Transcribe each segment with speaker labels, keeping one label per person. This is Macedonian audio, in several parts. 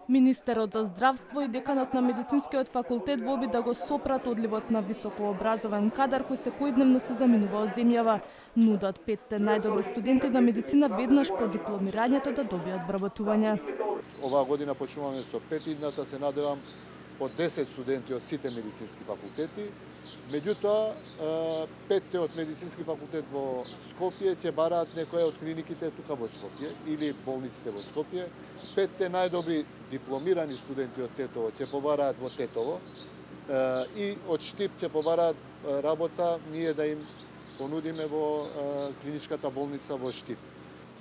Speaker 1: Министерот за здравство и деканот на медицинскиот факултет во обид да го сопрат одливот на високообразован кадар кој секојдневно се заминува од земјава. Нудат 5 најдобри студенти на медицина веднаш по дипломирањето да добијат вработување.
Speaker 2: Оваа година почнуваме со 5 идната, се надевам по 10 студенти од сите медицински факултети. Меѓутоа, 5 од медицински факултет во Скопје ќе бараат некоја од клиниките тука во Скопје или болниците во Скопје. 5 најдобри дипломирани студенти од Тетово ќе побараат во Тетово и од Штип ќе побараат работа ние да им понудиме во клиничката болница во Штип.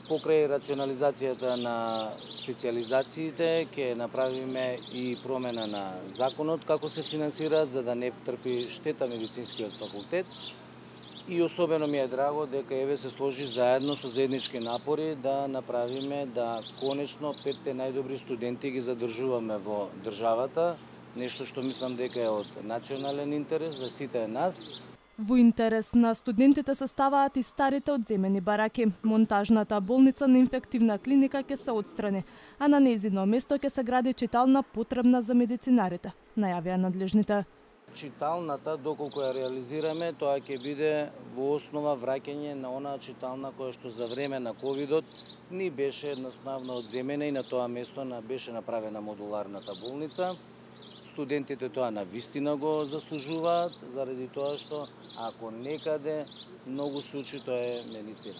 Speaker 3: Покрај рационализацијата на специјализациите ќе направиме и промена на законот како се финансираат за да не трпи штета медицинскиот факултет. И особено ми е драго дека еве се сложи заедно со заеднички напори да направиме да конечно 5 најдобри студенти ги задржуваме во државата, нешто што мислам дека е од национален интерес за сите нас.
Speaker 1: Во интерес на студентите се ставаат и старите одземени бараки. Монтажната болница на инфективна клиника ќе се отстрани, а на нејзино место ќе се гради читална потребна за медицинарите, најавија надлежните.
Speaker 3: Читалната, доколку ја реализираме, тоа ќе биде во основа враќање на онаа читална која што за време на ковидот ни беше едноставно одземена и на тоа место беше направена модуларната болница. Студентите тоа навистина го заслужуваат, заради тоа што ако некаде многу се учи, тоа е медицина.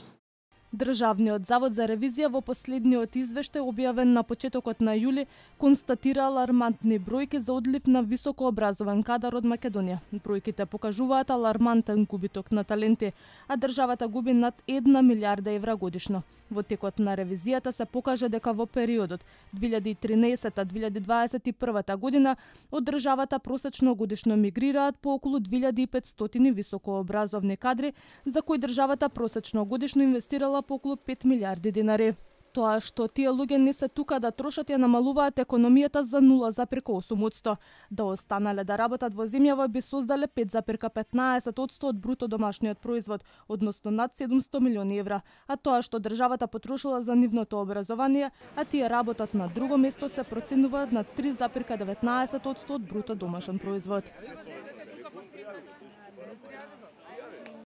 Speaker 1: Државниот завод за ревизија во последниот извештај објавен на почетокот на јули констатира алармантни бројки за одлив на високообразован кадар од Македонија. Бројките покажуваат алармантен губиток на таленти, а државата губи над 1 милиарда евра годишно. Во текот на ревизијата се покажа дека во периодот 2013-2021 година од државата просечно годишно мигрираат по околу 2500 високообразовни кадри, за кои државата просечно годишно инвестирала по околу 5 милиарди динари. Тоа што тие луѓе не се тука да трошат ја намалуваат економијата за 0,8%. Да останале да работат во земјава би создале 5,15% од бруто домашниот производ, односно над 700 милиони евра. А тоа што државата потрошила за нивното образование, а тие работат на друго место, се проценува на 3,19% од бруто домашен производ.